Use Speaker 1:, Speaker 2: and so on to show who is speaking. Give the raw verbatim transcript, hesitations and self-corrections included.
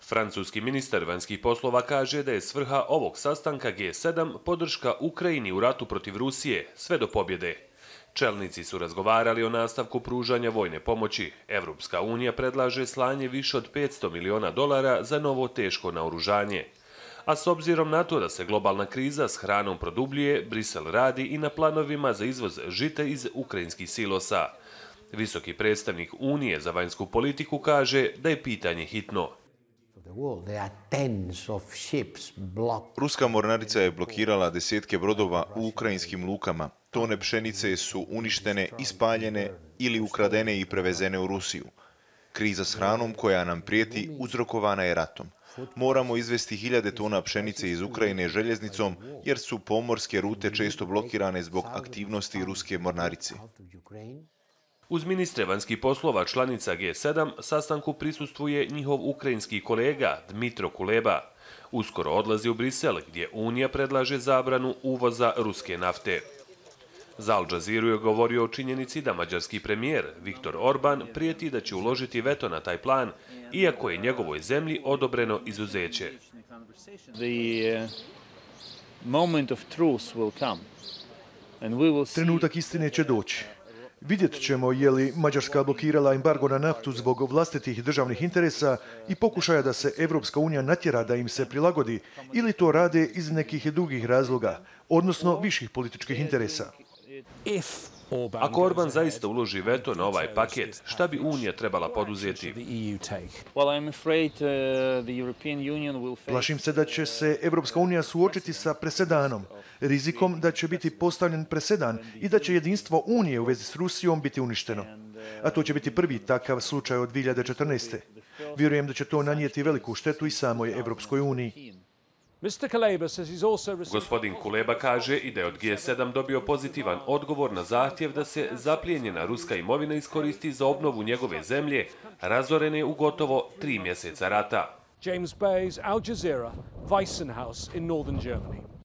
Speaker 1: Francuski ministar vanjskih poslova kaže da je svrha ovog sastanka G sedam podrška Ukrajini u ratu protiv Rusije, sve do pobjede. Čelnici su razgovarali o nastavku pružanja vojne pomoći. Evropska unija predlaže slanje više od petsto miliona dolara za novo teško naoružanje. A s obzirom na to da se globalna kriza s hranom produbljuje, Brisel radi i na planovima za izvoz žita iz ukrajinskih silosa. Visoki predstavnik Unije za vanjsku politiku kaže da je pitanje hitno.
Speaker 2: Ruska mornarica je blokirala desetke brodova u ukrajinskim lukama. Tone pšenice su uništene, ispaljene ili ukradene i prevezene u Rusiju. Kriza s hranom koja nam prijeti uzrokovana je ratom. Moramo izvesti hiljade tona pšenice iz Ukrajine željeznicom jer su pomorske rute često blokirane zbog aktivnosti ruske mornarice.
Speaker 1: Uz ministre vanjskih poslova članica G sedam sastanku prisustvuje njihov ukrajinski kolega Dmitro Kuleba. Uskoro odlazi u Brisel gdje Unija predlaže zabranu uvoza ruske nafte. Za Al Jazeeru je govorio o činjenici da mađarski premijer Viktor Orban prijeti da će uložiti veto na taj plan, iako je njegovoj zemlji odobreno izuzeće.
Speaker 3: Trenutak istine će doći. Vidjet ćemo je li Mađarska blokirala embargo na naftu zbog vlastitih državnih interesa i pokušaja da se Evropska unija natjera da im se prilagodi ili to rade iz nekih drugih razloga, odnosno viših političkih interesa.
Speaker 1: Ako Orban zaista uloži veto na ovaj paket, šta bi Unija trebala poduzeti?
Speaker 3: Plašim se da će se Evropska unija suočiti sa presedanom, rizikom da će biti postavljen presedan i da će jedinstvo Unije u vezi s Rusijom biti uništeno. A to će biti prvi takav slučaj od dvije hiljade četrnaeste. Vjerujem da će to nanijeti veliku štetu i samoj Evropskoj uniji.
Speaker 1: Gospodin Kuleba kaže i da je od G sedam dobio pozitivan odgovor na zahtjev da se zaplijenjena ruska imovina iskoristi za obnovu njegove zemlje, razorene u gotovo tri mjeseca rata.
Speaker 4: James Bays, Al Jazeera, Weissenhaus in northern Germany.